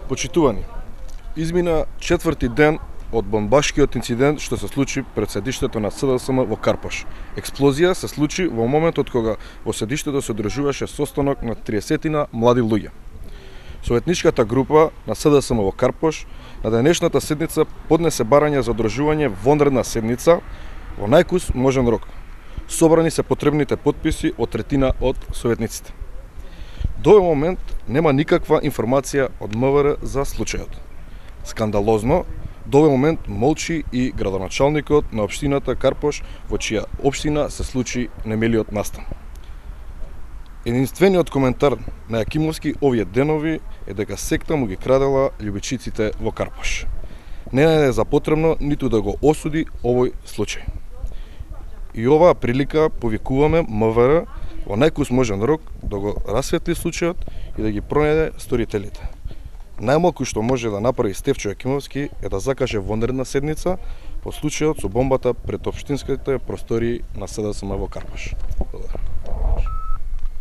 Почитувани, измина 4-ти ден од бомбашкиот инцидент што се случи пред седиштето на СДСМ во Карпош. Експлозија се случи во моментот кога во седиштето се одржуваше состанок на 30-тина млади луѓе. Советничката група на СДСМ во Карпош на денешната седница поднесе барање за одржување вонредна седница во најкус можен рок. Собрани се потребните потписи од третина од советниците. До овој момент нема никаква информација од МВР за случајот. Скандалозно, до овој момент молчи и градоначалникот на општината Карпош, во чија општина се случи немилиот настан. Единствениот коментар на Јакимовски овие денови е дека секта му ги крадела љубичиците во Карпош. Не е за потребно ниту да го осуди овој случај. И оваа прилика повикуваме МВР во најкус можен рок да го расветли случајот и да ги пронајде сторителите. Најмалку што може да направи Стефчо Јакимовски е да закаже вонредна седница по случајот со бомбата пред општинските простории на СДСМ во Карпош.